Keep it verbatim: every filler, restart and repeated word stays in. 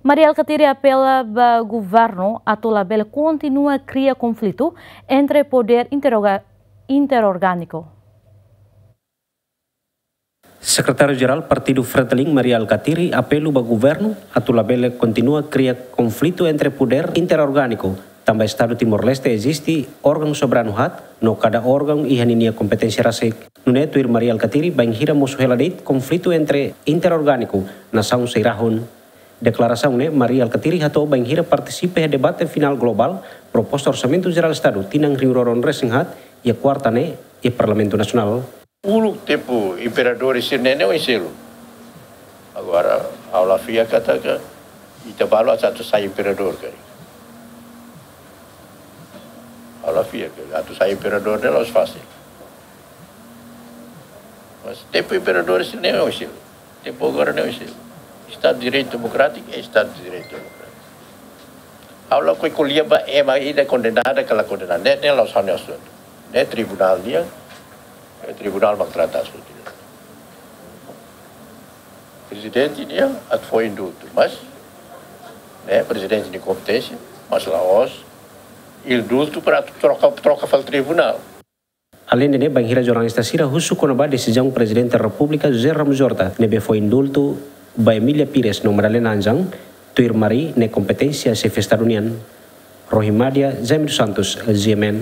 Mari Alkatiri apela ba governu atu labele kontinua kria konflitu entre podér interroga-, interorgániku. Sekretáriu-Jerál Partidu Fretilin, Mari Alkatiri, apelu ba governu atu labele kontinua kria konflitu entre podér interorgániku, tanba Estadu Timor-Leste eziste órgaun soberanu haat, no kada órgaun iha ninia kompeténsia rasik. Nune'e tuir Mari Alkatiri, bainhira mosu hela de'it konflitu entre interorgániku nasaun sei rahun. Deklarasaun ne'e Mari Alkatiri hato'o bainhira partisipa iha debate finál globál proposta Orsamentu Jerál Estadu tinan rihun rua ruanulu-resin-haat iha kuarta ne'e iha Parlamentu Nasionál. Uluk tempu imperadór sira-ne'e ne'e oin seluk. Agora, ha'u la fiar katak ita balu atu sai imperadór karik. Ha'u la fiar katak atu sai imperadór ne'e la'ós fasil. Mas tempu imperadór sira-ne'e oin seluk. Tempu agora ne'e oin seluk. Estadu de Direitu Demokrátiku é Estadu de Direitu Demokrátiku. Ha'u lakohi ko'alia ba ema ida kondenadu ka la kondenadu. Ne'e, ne'e la'ós ha'u-nia asuntu. Ne'e tribunál nian, eh, tribunál mak trata asuntu ne'e. Prezidente nian atu fó indultu, mas, ne'e, prezidente nia kompeténsia, mas la'ós indultu para troka, troka fali tribunál. Aleinde ne'e, bainhira jornalista sira husu kona-ba desizaun Prezidente Repúblika José Ramos Horta ne'ebé fó indultu ba Emília Pires no Madalena Anjang, tuir Mari ne'e kompeténsia xefe Estadu nian. Rohimadia, Jaime dos Santos, G M N.